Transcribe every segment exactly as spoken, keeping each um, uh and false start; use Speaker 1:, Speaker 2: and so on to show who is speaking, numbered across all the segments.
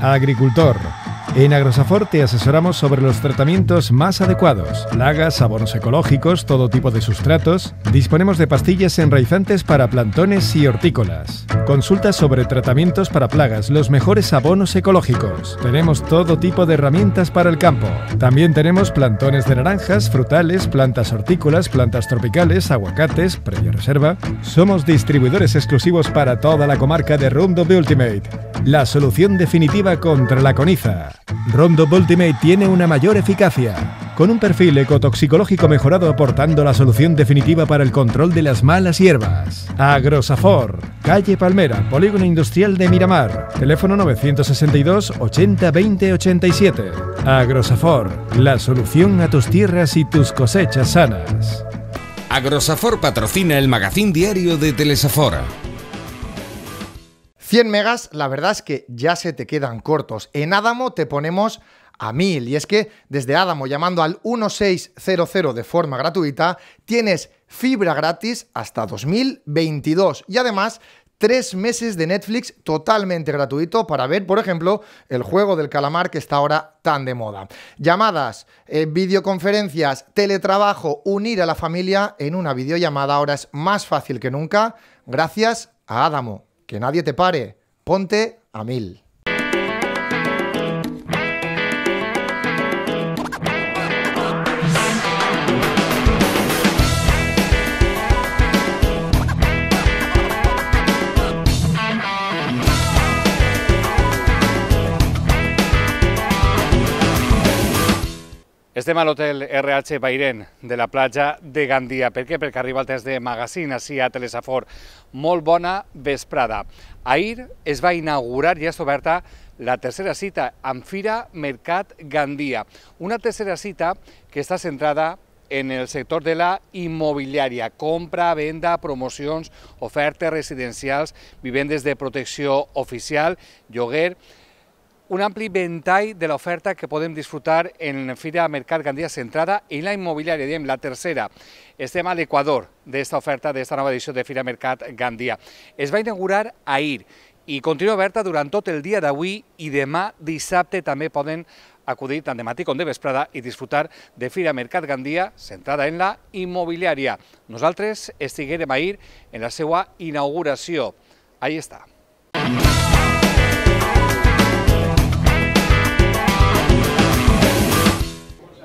Speaker 1: Agricultor. En Agrosafor te asesoramos sobre los tratamientos más adecuados, plagas, abonos ecológicos, todo tipo de sustratos. Disponemos de pastillas enraizantes para plantones y hortícolas. Consulta sobre tratamientos para plagas, los mejores abonos ecológicos. Tenemos todo tipo de herramientas para el campo. También tenemos plantones de naranjas, frutales, plantas hortícolas, plantas tropicales, aguacates, previa reserva. Somos distribuidores exclusivos para toda la comarca de Roundup Ultimate, la solución definitiva contra la coniza. Roundup Ultimate tiene una mayor eficacia, con un perfil ecotoxicológico mejorado aportando la solución definitiva para el control de las malas hierbas. Agrosafor, calle Palmera, Polígono Industrial de Miramar, teléfono novecientos sesenta y dos, ochenta, veinte, ochenta y siete. Agrosafor, la solución a tus tierras y tus cosechas sanas.
Speaker 2: Agrosafor patrocina el magazín diario de Telesafor.
Speaker 3: cien megas, la verdad es que ya se te quedan cortos. En Adamo te ponemos a mil. Y es que desde Adamo, llamando al dieciséis cero cero de forma gratuita, tienes fibra gratis hasta dos mil veintidós. Y además, tres meses de Netflix totalmente gratuito para ver, por ejemplo, el juego del calamar que está ahora tan de moda. Llamadas, eh, videoconferencias, teletrabajo, unir a la familia en una videollamada ahora es más fácil que nunca gracias a Adamo. Que nadie te pare, ponte a mil.
Speaker 4: Estem a l'hotel R H Bairén de la platja de Gandia. Per què? Perquè arriba el test de magazine així a Telesafor. Molt bona vesprada. Ahir es va inaugurar, ja està oberta, la tercera cita amb Fira Mercat Gandia. Una tercera cita que està centrada en el sector de la immobiliària, compra, venda, promocions, ofertes residencials, vivendes de protecció oficial, lloguer, un ampli ventall de l'oferta que podem disfrutar en Fira Mercat Gandia centrada en la immobiliària, diem la tercera. Estem a l'equador d'esta oferta, d'esta nova edició de Fira Mercat Gandia. Es va inaugurar ahir i continua oberta durant tot el dia d'avui i demà dissabte també poden acudir tant de matí com de vesprada i disfrutar de Fira Mercat Gandia centrada en la immobiliària. Nosaltres estiguérem ahir en la seva inauguració. Ahí està.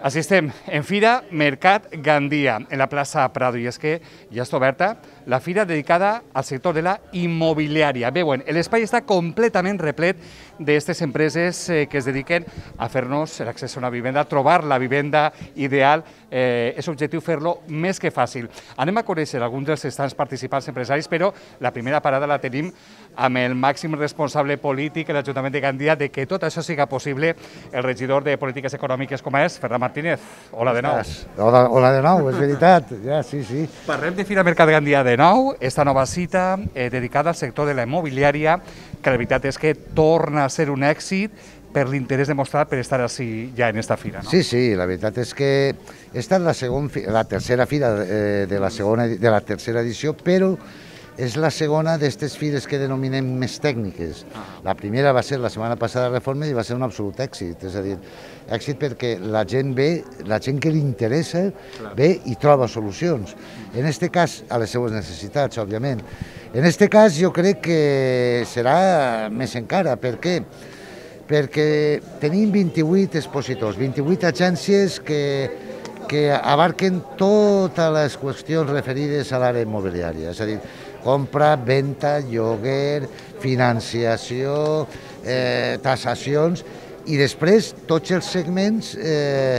Speaker 4: Així estem, en Fira Mercat Gandia, en la plaça Prado, i és que ja està oberta la fira dedicada al sector de la immobiliària. Veuen, l'espai està completament replet d'aquestes empreses que es dediquen a fer-nos l'accés a una vivenda, a trobar la vivenda ideal. Eh, és objectiu fer-lo més que fàcil. Anem a conèixer alguns dels estants participants empresaris, però la primera parada la tenim amb el màxim responsable polític de l'Ajuntament de Gandia de que tot això siga possible, el regidor de Polítiques Econòmiques com és Ferran Martínez. Hola de nou.
Speaker 5: Hola, hola de nou, és veritat. Ja, sí, sí.
Speaker 4: Parlem de Fira Mercat Gandia de nou, esta nova cita eh, dedicada al sector de la immobiliària, que la veritat és que torna a ser un èxit per l'interès demostrat per estar així ja en esta fira, no?
Speaker 5: Sí, sí, la veritat és que esta és la, segon, la tercera fira eh, de, la segona, de la tercera edició, però és la segona d'aquestes fires que denominem més tècniques. La primera va ser la setmana passada a Reforma i va ser un absolut èxit, és a dir, èxit perquè la gent ve, la gent que li interessa ve i troba solucions. En aquest cas, a les seues necessitats, òbviament. En aquest cas jo crec que serà més encara. Per què? Perquè tenim vint-i-vuit expositors, vint-i-vuit agències que que abarquen totes les qüestions referides a l'àrea immobiliària, és a dir, compra, venda, lloguer, financiació, eh, tasacions i després tots els segments, eh,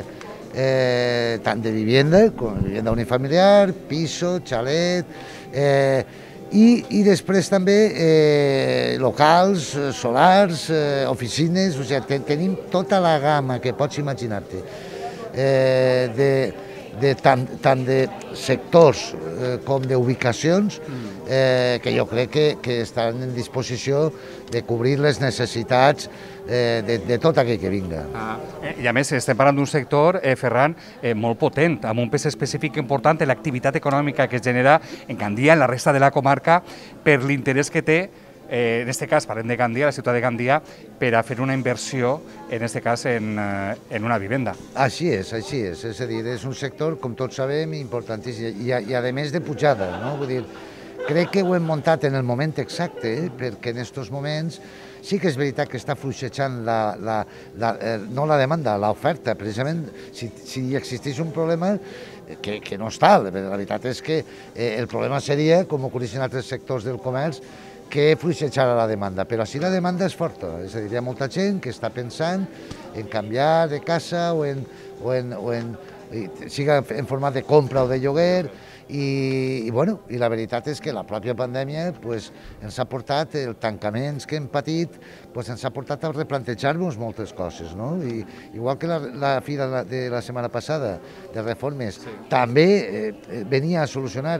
Speaker 5: eh, tant de vivenda, com vivenda unifamiliar, piso, xalet, eh, i, i després també eh, locals, solars, eh, oficines, o sigui, ten, tenim tota la gamma que pots imaginar-te. Eh, de, de tant, tant de sectors eh, com d'ubicacions eh, que jo crec que, que estan en disposició de cobrir les necessitats eh, de, de tot aquell que vinga.
Speaker 4: Ah, I a més estem parlant d'un sector, eh, Ferran, eh, molt potent, amb un pes específic important en l'activitat econòmica que es genera en Gandia, en la resta de la comarca, per l'interès que té eh, en aquest cas parlem de Gandia, la ciutat de Gandia, per a fer una inversió, en aquest cas, en, eh, en una vivenda.
Speaker 5: Així és, així és. És a dir, és un sector, com tots sabem, importantíssim i, i a més de pujada, no? Vull dir, crec que ho hem muntat en el moment exacte, eh? Perquè en aquests moments sí que és veritat que està fluixejant la, la, la, eh, no la demanda, l'oferta. Precisament, si, si existís un problema, que, que no està, la veritat és que eh, el problema seria, com ocorreix en altres sectors del comerç, que fluixejara la demanda, però si la demanda és forta, és a dir, hi ha molta gent que està pensant en canviar de casa o en, o en, o en siga en format de compra o de lloguer, i, i, bueno, i la veritat és que la pròpia pandèmia pues, ens ha portat, els tancaments que hem patit, pues, ens ha portat a replantejar-nos moltes coses, no? I, igual que la, la fi de la, de la setmana passada de reformes sí. també eh, venia a solucionar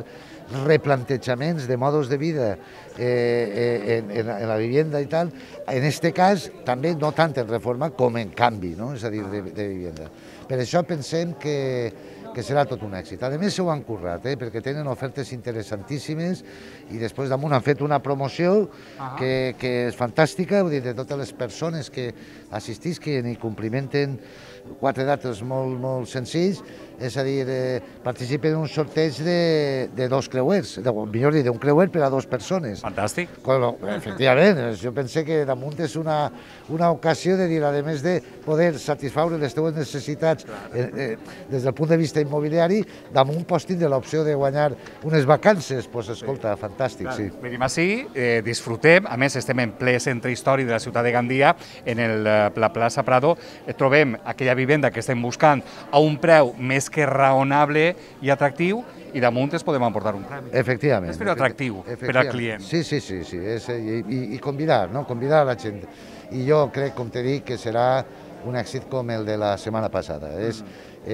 Speaker 5: replantejaments de modos de vida eh, en, en, en la vivienda i tal, en este cas també no tant en reforma com en canvi, no? És a dir, de, de vivienda. Per això pensem que, que serà tot un èxit. A més, s'ho han currat, eh, perquè tenen ofertes interessantíssimes i després damunt han fet una promoció que, que és fantàstica, vull dir, de totes les persones que assistisquen i complimenten quatre dates molt, molt senzills, és a dir, eh, participen en un sorteig de, de dos creuers, de, millor dir, d'un creuer per a dues persones.
Speaker 4: Fantàstic.
Speaker 5: Bueno, efectivament, jo pense que damunt és una, una ocasió de dir, a més de poder satisfaure les teves necessitats eh, eh, des del punt de vista immobiliari, damunt pots tindre l'opció de guanyar unes vacances, doncs pues, escolta, sí. Fantàstic, sí.
Speaker 4: Venim així, eh, disfrutem, a més estem en ple centre històric de la ciutat de Gandia, en el, la plaça Prado, eh, trobem aquella vivenda que estem buscant a un preu més que raonable i atractiu, i damunt es podem emportar un premi.
Speaker 5: Efectivament.
Speaker 4: És fer atractiu per al client.
Speaker 5: Sí, sí, sí, sí. És, i, i, i convidar, no? Convidar a la gent. I jo crec, com t'he dit, que serà un èxit com el de la setmana passada. Mm. És,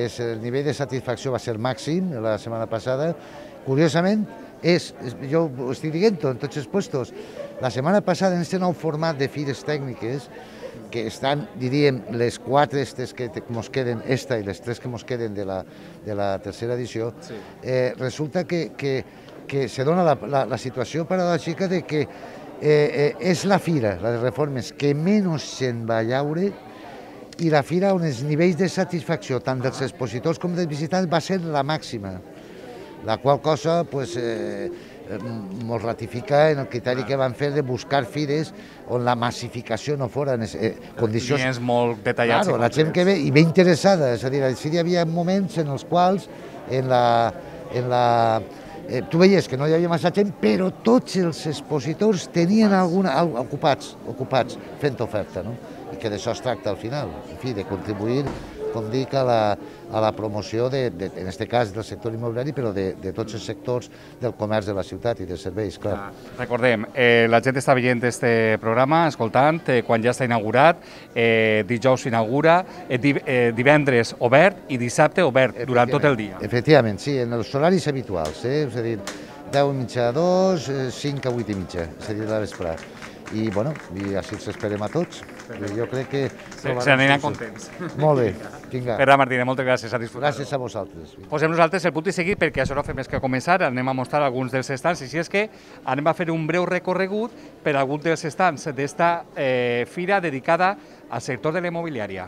Speaker 5: és, el nivell de satisfacció va ser màxim la setmana passada. Curiosament, és, és, jo ho estic dient en tots els puestos, la setmana passada en aquest nou format de fires tècniques, que estan, diríem, les quatre estes que ens queden, esta i les tres que ens queden de la, de la tercera edició, sí. eh, resulta que, que, que se dona la, la, la situació paradòxica de que eh, eh, és la fira, la de reformes, que menys se'n va llaure, i la fira on els nivells de satisfacció, tant dels expositors com dels visitants, va ser la màxima, la qual cosa, pues, eh, ens ratifica en el criteri que van fer de buscar fires on la massificació no fora en eh, condicions...
Speaker 4: Clients molt detallats.
Speaker 5: Claro, la gent que ve i ve interessada, és a dir, sí hi havia moments en els quals en la... En la eh, tu veies que no hi havia massa gent, però tots els expositors tenien alguna, ocupats, ocupats fent oferta, no? I que d'això es tracta al final, en fi, de contribuir, com dic, a la, a la promoció, de, de, en aquest cas, del sector immobiliari, però de, de tots els sectors del comerç de la ciutat i de serveis, clar.
Speaker 4: Ah, recordem, eh, la gent està veient este programa, escoltant, eh, quan ja està inaugurat, eh, dijous s'inaugura, eh, div, eh, divendres obert i dissabte obert durant tot el dia.
Speaker 5: Efectivament, sí, en els horaris habituals, eh? És a dir, deu i mitja a dos, cinc a vuit i mitja, és a dir, de vesprà. I, bueno, i així els esperem a tots. Jo crec que...
Speaker 4: Se n'aniran contents.
Speaker 5: Molt bé, vinga.
Speaker 4: Pere Martínez, moltes gràcies, a disfrutar.
Speaker 5: Gràcies a vosaltres.
Speaker 4: Posem nosaltres el punt i seguit, perquè això no fem més que començar, anem a mostrar alguns dels estants, i si és que anem a fer un breu recorregut per alguns dels estants d'esta eh, fira dedicada al sector de la immobiliària.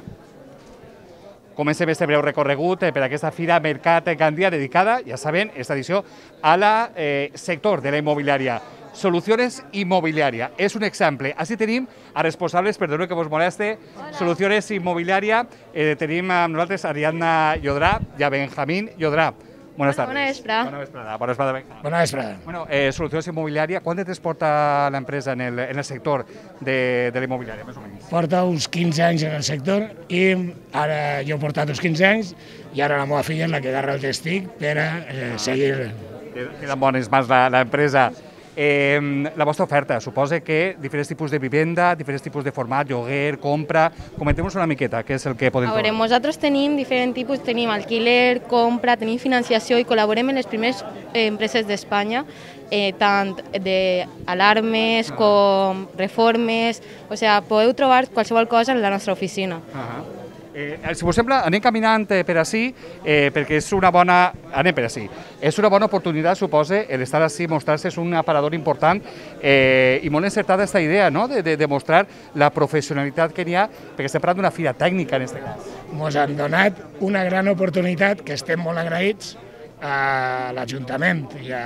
Speaker 4: Comencem este breu recorregut eh, per aquesta fira Mercat Gandia dedicada, ja saben, esta edició, a la eh, sector de la immobiliària. Soluciones Inmobiliària. És un exemple. Així tenim a responsables, perdoneu que vos moleste, Soluciones Inmobiliària. Eh, tenim amb nosaltres Ariadna Llodrà i a Benjamín Llodrà. Buenas tardes.
Speaker 6: Bona vesprada.
Speaker 4: Bona vesprada. Bona vesprada, Benjamín.
Speaker 7: Bona vesprada.
Speaker 4: Bueno, eh, Soluciones Inmobiliària, quant de temps porta l'empresa en, el, en el sector de, de la immobiliària, més o menys?
Speaker 7: Porta uns quinze anys en el sector i ara jo he portat uns quinze anys i ara la meva filla és la que agarra el testic per a eh, seguir.
Speaker 4: Queda en bones mans l'empresa. Eh, la vostra oferta suposa que diferents tipus de vivenda, diferents tipus de format, lloguer, compra... Comenteu-nos una miqueta, què és el que podem
Speaker 6: trobar? A veure, nosaltres tenim diferents tipus, tenim alquiler, compra, tenim financiació i col·laborem en les primeres eh, empreses d'Espanya, eh, tant d'alarmes com reformes, o sigui, podeu trobar qualsevol cosa en la nostra oficina.
Speaker 4: Uh -huh. Eh, si us sembla, anem caminant eh, per ací, eh, perquè és una bona... Anem per ací. És una bona oportunitat, suposa, el estar ací, mostrar-se és un aparador important eh, i molt encertada aquesta idea, no?, de, de, de mostrar la professionalitat que n'hi ha, perquè estem parlant d'una fira tècnica, en aquest cas.
Speaker 7: Ens han donat una gran oportunitat que estem molt agraïts a l'Ajuntament i a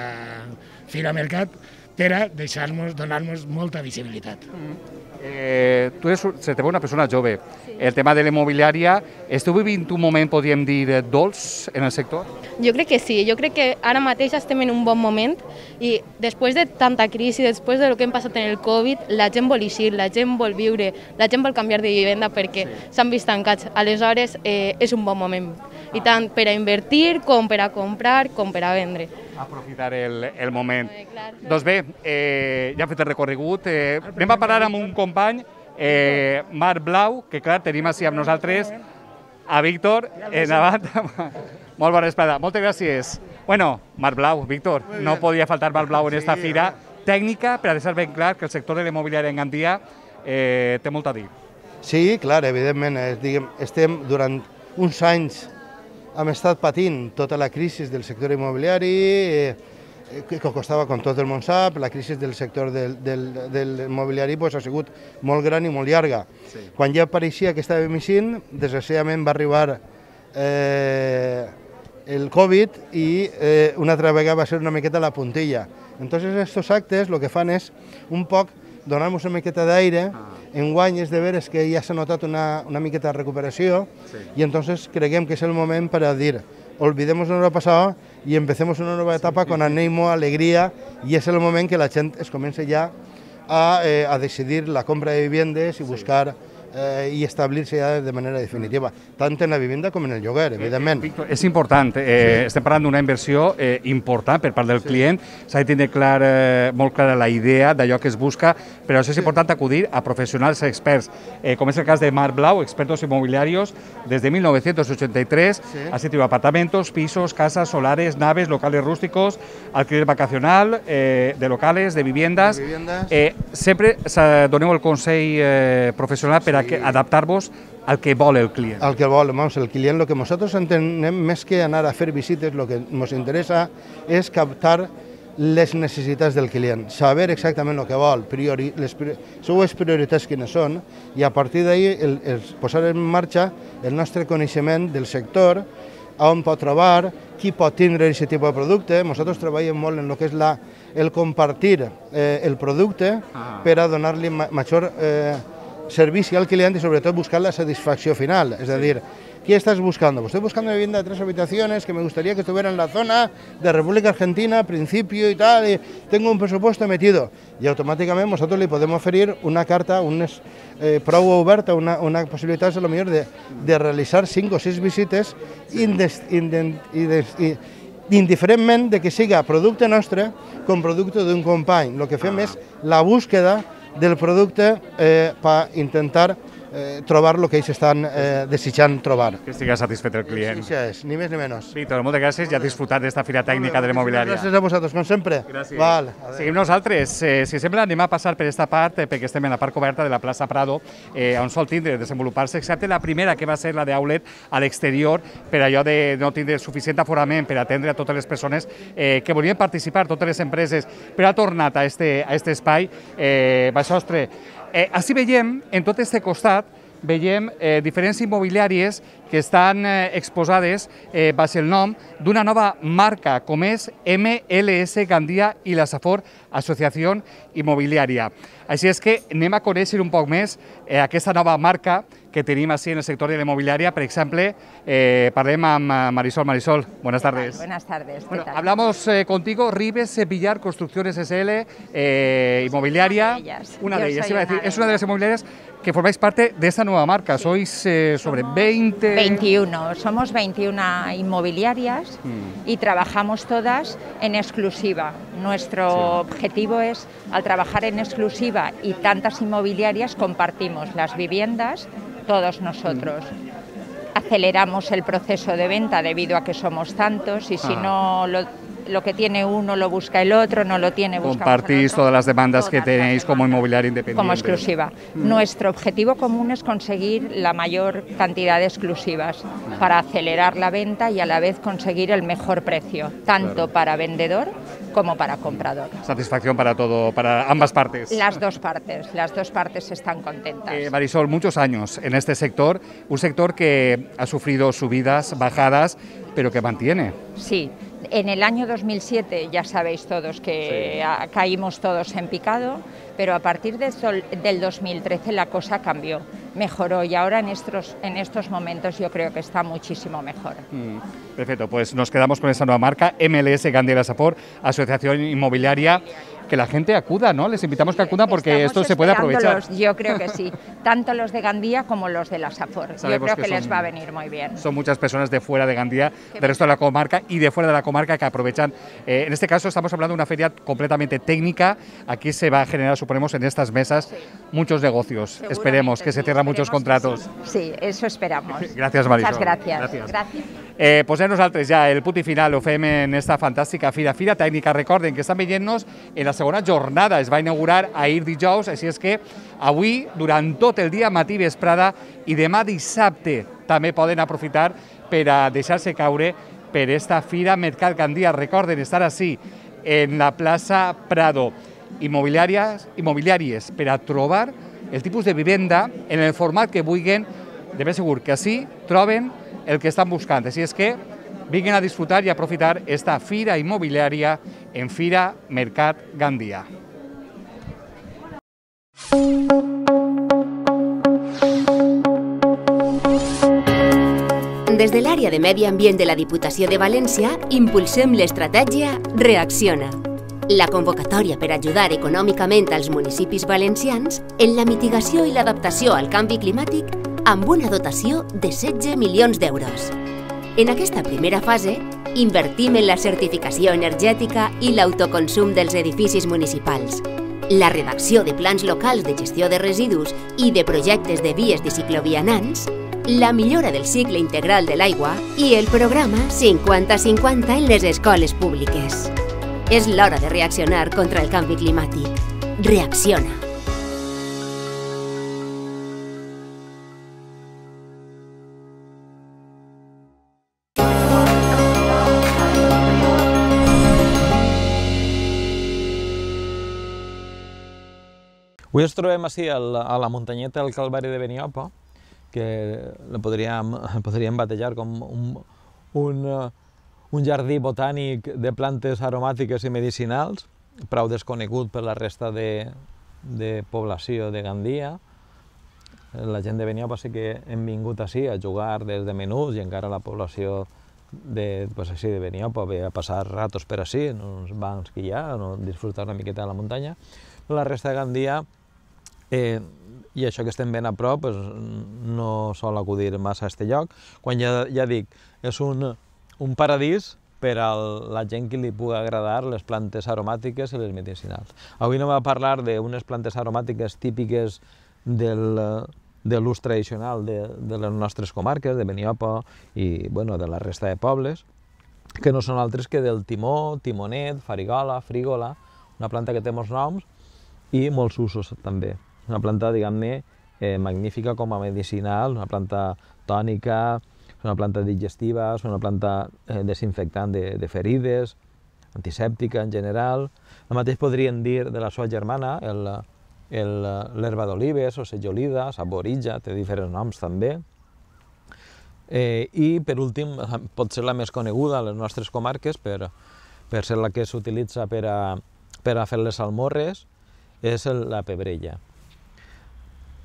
Speaker 7: Fira Mercat per a deixar-nos, donar-nos molta visibilitat.
Speaker 4: Mm. Eh, tu eres, se te veu una persona jove. Sí. El tema de l'immobiliària, esteu vivint un moment, podríem dir, dolç en el sector?
Speaker 6: Jo crec que sí, jo crec que ara mateix estem en un bon moment i després de tanta crisi, després de lo que hem passat en el Covid, la gent vol eixir, la gent vol viure, la gent vol canviar de vivenda perquè s'han vist tancats. Aleshores, eh, és un bon moment, i tant per a invertir, com per a comprar, com per a vendre.
Speaker 4: Aprofitar el, el moment. Eh, doncs bé, eh, ja hem fet el recorregut, eh, anem a parar amb un company, eh, Marc Blau, que clar, tenim així amb nosaltres a Víctor, endavant. Molt bona vesprada, moltes gràcies. Bueno, Marc Blau, Víctor, no podia faltar Marc Blau en esta fira tècnica, per a deixar ben clar que el sector de l'immobiliari en Gandia eh, té molt a dir.
Speaker 8: Sí, clar, evidentment, eh, diguem, estem durant uns anys hem estat patint tota la crisi del sector immobiliari, eh, que costava, com tot el món sap, la crisi del sector del, del, del immobiliari pues, ha sigut molt gran i molt llarga. Sí. Quan ja pareixia que estàvem eixint, desgraciadament va arribar eh, el Covid i eh, una altra vegada va ser una miqueta la puntilla. Entonces, estos actes el que fan és un poc donar-nos una miqueta d'aire. Enguany és de veres que ja s'ha notat una, una miqueta de recuperació sí. I entonces creguem que és el moment per a dir olvidemos lo pasado y empecemos una nueva etapa sí, con ánimo, alegría y es el moment que la gent es comença ja a, eh, a decidir la compra de viviendes i buscar eh, i establir-se ja de manera definitiva, tant en la vivenda com en el lloguer, evidentment.
Speaker 4: Eh, Víctor, és important, eh, sí. Estem parlant d'una inversió eh, important per part del sí. client, s'ha de tenir clar, eh, molt clara la idea d'allò que es busca, però això és sí. important acudir a professionals experts, eh, com és el cas de Marc Blau, expertos inmobiliarios, des de mil novecientos ochenta y tres, sí. ha sido apartamentos, pisos, casas, solares, naves, locales rústicos, alquiler vacacional, eh, de locales, de viviendas. De viviendas. Eh, sempre doneu el consell eh, professional per a que adaptar-vos al que vol el client.
Speaker 8: Al que vol, vamos, el client, lo que nosotros entenem més que anar a fer visites, lo que nos interesa és captar les necessitats del client, saber exactament el que vol, priori, les seues prioritats quines són, i a partir d'ahí el, el posar en marxa el nostre coneixement del sector, on pot trobar, qui pot tindre aquest tipus de producte. Nosaltres treballem molt en el que és la, el compartir eh, el producte ah. per a donar-li ma major eh, servicio al cliente y sobre todo buscar la satisfacción final, es decir, ¿qué estás buscando? Pues estoy buscando una vivienda de tres habitaciones que me gustaría que estuviera en la zona de República Argentina, principio y tal, y tengo un presupuesto metido y automáticamente nosotros le podemos ofrecer una carta, un eh, prou oberta, una, una possibilitat a lo millor de, de realizar cinco o seis visites indes, indes, indes, indiferentment de que siga producte nostre com producte d'un company. El que fem ah. és la búsqueda del producte eh, per intentar eh, trobar el que ells estan eh, desitjant trobar.
Speaker 4: Que estigui satisfet el client.
Speaker 8: Sí, sí, ni més ni menys.
Speaker 4: Víctor, moltes gràcies i a disfrutar d'esta fira tècnica de l'immobiliària.
Speaker 8: Gràcies a vosaltres, com sempre.
Speaker 4: Gràcies.
Speaker 8: Val,
Speaker 4: seguim nosaltres. Eh, si sembla, anem a passar per aquesta part, eh, perquè estem en la part coberta de la plaça Prado, eh, on sol tindre desenvolupar-se, excepte la primera, que va ser la d'Aulet a l'exterior, per allò de no tindre suficient aforament per atendre a totes les persones eh, que volien participar, totes les empreses, però ha tornat a este, a este espai. Eh, Baixostre, eh, així veiem, en tot este costat, veiem eh, diferents immobiliàries que estan eh, exposades eh, baix el nom d'una nova marca, com és M L S Gandia i la Safor Associació Immobiliària. Així és que anem a conèixer un poc més eh, aquesta nova marca que tenim així en el sector de l'immobiliària. Per exemple, eh, parlem amb Marisol. Marisol, buenas tardes.
Speaker 9: Buenas tardes.
Speaker 4: Bueno, hablamos eh, contigo, Ribes Villar Construcciones S L, eh, inmobiliaria.
Speaker 9: Una de ellas.
Speaker 4: Una de ellas, iba a decir, es una de las inmobiliarias que formáis parte de esta nueva marca. Sí. Sois eh, sobre somos veinte...
Speaker 9: veintiuno, somos veintiuna inmobiliarias mm. y trabajamos todas en exclusiva. Nuestro sí. objetivo es, al trabajar en exclusiva y tantas inmobiliarias, compartimos las viviendas, todos nosotros. Mm. Aceleramos el proceso de venta debido a que somos tantos y si ah. no lo lo que tiene uno lo busca el otro, no lo tiene, buscamos
Speaker 4: Compartís
Speaker 9: el otro.
Speaker 4: todas las demandas
Speaker 9: Todas
Speaker 4: que tenéis
Speaker 9: las
Speaker 4: como
Speaker 9: demandas.
Speaker 4: inmobiliaria independiente.
Speaker 9: Como exclusiva. Mm. Nuestro objetivo común es conseguir la mayor cantidad de exclusivas para acelerar la venta y a la vez conseguir el mejor precio, tanto claro. para vendedor como para comprador.
Speaker 4: Satisfacción para todo, para ambas partes.
Speaker 9: Las dos partes, las dos partes están contentas.
Speaker 4: Eh, Marisol, muchos años en este sector, un sector que ha sufrido subidas, bajadas, pero que mantiene.
Speaker 9: Sí. En el año dos mil siete ya sabéis todos que sí. caímos todos en picado, pero a partir de sol, del dos mil trece la cosa cambió, mejoró y ahora en estos, en estos momentos yo creo que está muchísimo mejor.
Speaker 4: Mm, perfecto, pues nos quedamos con esa nueva marca, M L S Gandia Lasapor, Asociación Inmobiliaria. Que la gente acuda, ¿no? Les invitamos que acudan porque Estamos esto se puede aprovechar.
Speaker 9: Yo creo que sí, tanto los de Gandía como los de Lasapor. Yo creo que, que son, les va a venir muy bien.
Speaker 4: Son muchas personas de fuera de Gandía, del resto de la comarca y de fuera de la comarca que aprovechan. Eh, en este caso estamos hablando de una feria completamente técnica. Aquí se va a generar, suponemos, en estas mesas sí. muchos negocios. Esperemos que sí, se cierren muchos contratos.
Speaker 9: Sí. sí, eso esperamos.
Speaker 4: Gràcies, Marisol.
Speaker 9: Muchas gracias.
Speaker 4: Gràcies.
Speaker 9: Gràcies.
Speaker 4: Eh, posem nosaltres ja el punt i final, ho fem en esta fantàstica fira, fira tècnica. Recorden que estan veient-nos en la segona jornada, es va inaugurar ahir dijous, així és que avui, durant tot el dia, matí, vesprada i demà dissabte, també poden aprofitar per a deixar-se caure per esta fira Mercat Gandia. Recorden estar així, en la plaça Prado, immobiliàries, immobiliàries per a trobar el tipus de vivenda en el format que vulguin. De ben segur que així troben el que estan buscant. Així és que vinguin a disfrutar i aprofitar esta fira immobiliària en Fira Mercat Gandia.
Speaker 10: Des de l'àrea de Medi Ambient de la Diputació de València impulsem l'estratègia Reacciona, la convocatòria per ajudar econòmicament als municipis valencians en la mitigació i l'adaptació al canvi climàtic amb una dotació de setze milions d'euros. En aquesta primera fase, invertim en la certificació energètica i l'autoconsum dels edificis municipals, la redacció de plans locals de gestió de residus i de projectes de vies de ciclovianants, la millora del cicle integral de l'aigua i el programa cinquanta cinquanta en les escoles públiques. És l'hora de reaccionar contra el canvi climàtic. Reacciona.
Speaker 11: Avui ens trobem així a la muntanyeta del Calvari de Beniopa, que la podríem, podríem batejar com un, un, un jardí botànic de plantes aromàtiques i medicinals, prou desconegut per la resta de, de població de Gandia. La gent de Beniopa sí que hem vingut així a jugar des de menuts i encara la població de, pues així, de Beniopa ve a passar ratos per així, en uns bancs que hi ha, no, disfrutar una miqueta de la muntanya. La resta de Gandia, eh, i això que estem ben a prop, pues, no sol acudir massa a aquest lloc. Quan ja, ja dic, és un, un paradís per a la gent que li pugui agradar les plantes aromàtiques i les medicinals. Avui anem a parlar d'unes plantes aromàtiques típiques del, de l'ús tradicional de, de les nostres comarques, de Beniopa i bueno, de la resta de pobles, que no són altres que del timó, timonet, farigola, frígola, una planta que té molts noms i molts usos també. Una planta, diguem-ne, eh, magnífica com a medicinal, una planta tònica, una planta digestiva, és una planta eh, desinfectant de, de ferides, antisèptica en general. El mateix podríem dir de la seva germana, l'herba d'olives o sejolida, saboritja, té diferents noms també. Eh, I, per últim, pot ser la més coneguda a les nostres comarques per, per ser la que s'utilitza per, a, per a fer les salmorres, és la pebrella.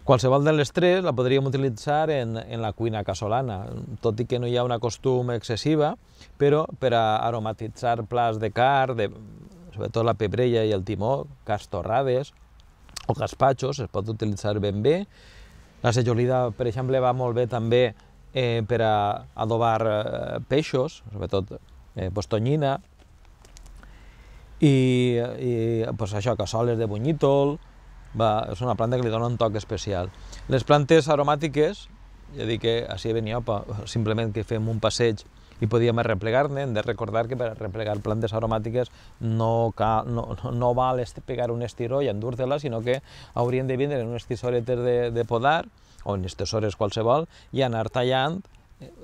Speaker 11: Qualsevol de les tres la podríem utilitzar en, en la cuina casolana, tot i que no hi ha una costum excessiva, però per a aromatitzar plats de carn, de, sobretot la pebrella i el timó, carns torrades o gaspatxos, es pot utilitzar ben bé. La sejolida, per exemple, va molt bé també eh, per a adobar eh, peixos, sobretot eh, pues, tonyina, i, i pues, això, cassoles de bunyítol. Va, és una planta que li dona un toc especial. Les plantes aromàtiques, ja dic que així a Beniopa, simplement que fem un passeig i podíem replegar-ne. Hem de recordar que per replegar plantes aromàtiques no, cal, no, no val pegar un estiró i endur-te-la, sinó que haurien de vindre en unes tisoretes de, de podar, o en tisores qualsevol, i anar tallant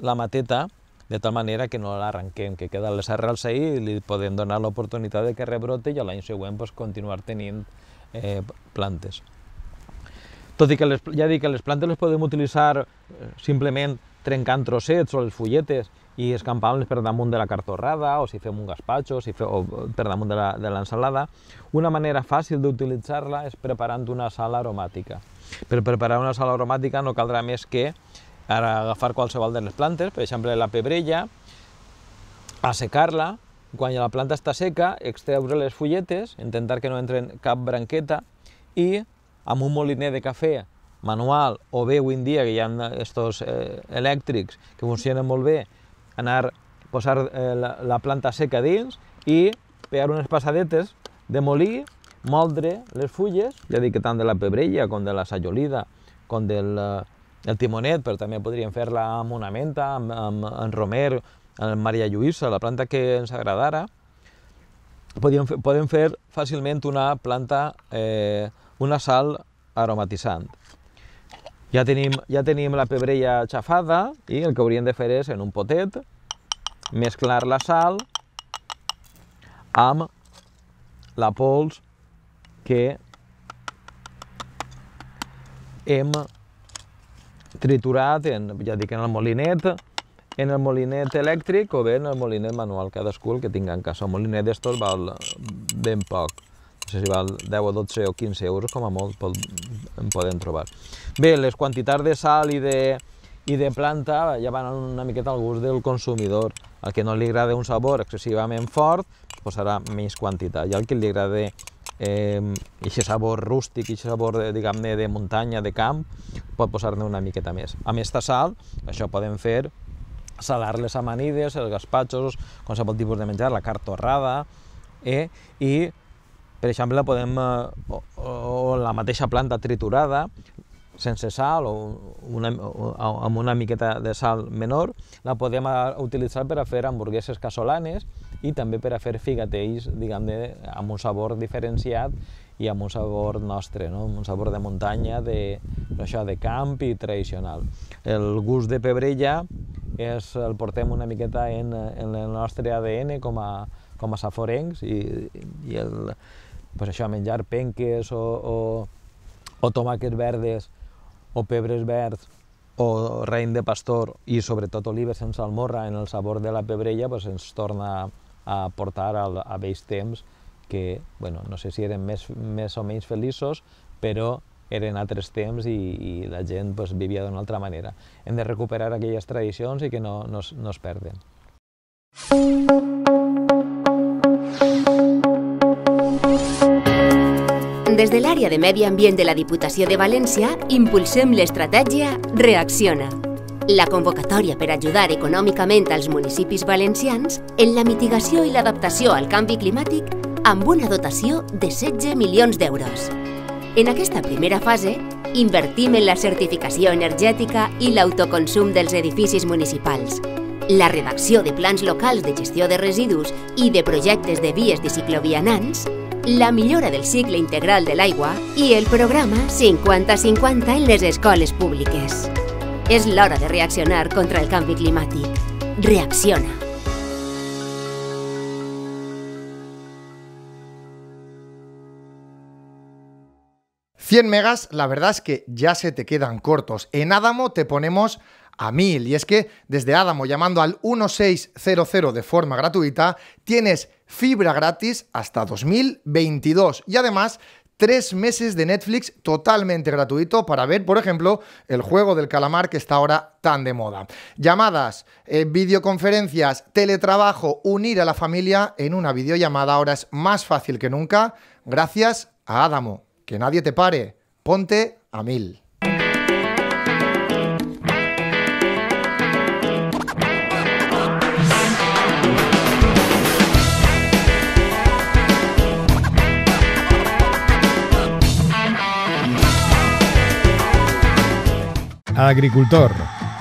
Speaker 11: la mateta de tal manera que no l'arrenquem, que queden les arrels ahí i li podem donar l'oportunitat de que rebrote i l'any següent pues, continuar tenint eh, plantes. Tot i que les, ja dic que les plantes les podem utilitzar simplement trencant trossets o les fulletes i escampant-les per damunt de la cartorrada, o si fem un gaspatxo, si fe, o per damunt de l'ensalada. Una manera fàcil d'utilitzar-la és preparant una sal aromàtica. Per preparar una sal aromàtica no caldrà més que ara agafar qualsevol de les plantes, per exemple la pebrella, assecar-la, quan la planta està seca, extreure les fulletes, intentar que no entren cap branqueta i amb un moliner de cafè manual o bé avui en dia que hi ha estos eh, elèctrics que funcionen molt bé, anar a posar eh, la, la planta seca dins i pegar unes passadetes de molí, moldre les fulles, ja dic que tant de la pebrella com de la sajolida, com del el timonet, però també podríem fer-la amb una menta, amb, amb, amb romer, amb Maria Lluïsa, la planta que ens agradara. Podem fer, podem fer fàcilment una planta, eh, una sal aromatitzant. Ja tenim, ja tenim la pebrella xafada i el que hauríem de fer és, en un potet, mesclar la sal amb la pols que hem triturat, en, ja dic, en el molinet, en el molinet elèctric o bé en el molinet manual, cadascú el que tinga en casa. El molinet d'estos val ben poc, no sé si val deu o dotze o quinze euros, com a molt en podem trobar. Bé, les quantitats de sal i de, i de planta ja van una miqueta al gust del consumidor. Al que no li agrada un sabor excessivament fort, posarà menys quantitat, i al que li agrada aquest sabor rústic, aquest sabor diguem-ne de muntanya, de camp, pot posar-ne una miqueta més. Amb aquesta sal, això podem fer salar les amanides, els gaspatxos, qualsevol tipus de menjar, la cartorrada, eh? I, per exemple, podem, o, o la mateixa planta triturada, sense sal o, una, o amb una miqueta de sal menor, la podem utilitzar per a fer hamburgueses casolanes i també per a fer figatells, diguem-ne, amb un sabor diferenciat i amb un sabor nostre, no? Un sabor de muntanya, de, això, de camp i tradicional. El gust de pebrella és, el portem una miqueta en, en el nostre A D N com a, com a saforencs i, i el, pues això, menjar penques o, o, o tomàquets verdes o pebres verds o raïm de pastor i sobretot olives sense salmorra en el sabor de la pebrella, pues ens torna a portar a, a vells temps que, bueno, no sé si eren més, més o menys feliços, però eren altres temps i, i la gent pues, vivia d'una altra manera. Hem de recuperar aquelles tradicions i que no, no, no es perden.
Speaker 10: Des de l'àrea de Medi Ambient de la Diputació de València impulsem l'estratègia Reacciona, la convocatòria per ajudar econòmicament als municipis valencians en la mitigació i l'adaptació al canvi climàtic amb una dotació de setze milions d'euros. En aquesta primera fase, invertim en la certificació energètica i l'autoconsum dels edificis municipals, la redacció de plans locals de gestió de residus i de projectes de vies de ciclovianants, la millora del cicle integral de l'aigua i el programa cinquanta cinquanta en les escoles públiques. És l'hora de reaccionar contra el canvi climàtic. Reacciona.
Speaker 3: cien megas, la verdad es que ya se te quedan cortos. En Adamo te ponemos a mil. Y es que desde Adamo, llamando al dieciséis cero cero de forma gratuita, tienes fibra gratis hasta dos mil veintidós. Y además, tres meses de Netflix totalmente gratuito para ver, por ejemplo, el juego del calamar que está ahora tan de moda. Llamadas, eh, videoconferencias, teletrabajo, unir a la familia en una videollamada ahora es más fácil que nunca gracias a Adamo. Que nadie te pare. Ponte a mil.
Speaker 1: Agricultor.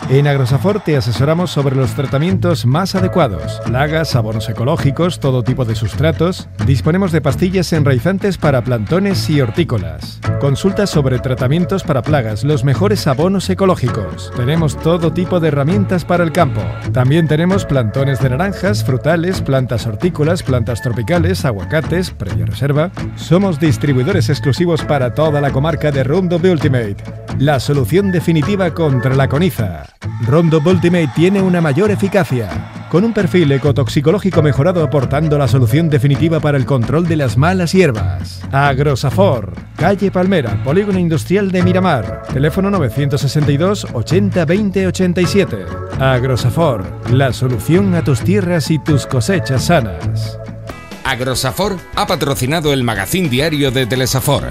Speaker 1: En Agrosafor te asesoramos sobre los tratamientos más adecuados, plagas, abonos ecológicos, todo tipo de sustratos. Disponemos de pastillas enraizantes para plantones y hortícolas. Consultas sobre tratamientos para plagas, los mejores abonos ecológicos. Tenemos todo tipo de herramientas para el campo. También tenemos plantones de naranjas, frutales, plantas hortícolas, plantas tropicales, aguacates, previa reserva. Somos distribuidores exclusivos para toda la comarca de Roundup Ultimate, la solución definitiva contra la coniza. Roundup Ultimate tiene una mayor eficacia, con un perfil ecotoxicológico mejorado aportando la solución definitiva para el control de las malas hierbas. Agrosafor, calle Palmera, Polígono Industrial de Miramar, teléfono novecientos sesenta y dos ochenta veinte ochenta y siete. Agrosafor, la solución a tus tierras y tus cosechas sanas.
Speaker 2: Agrosafor ha patrocinado el magazín diario de Telesafor.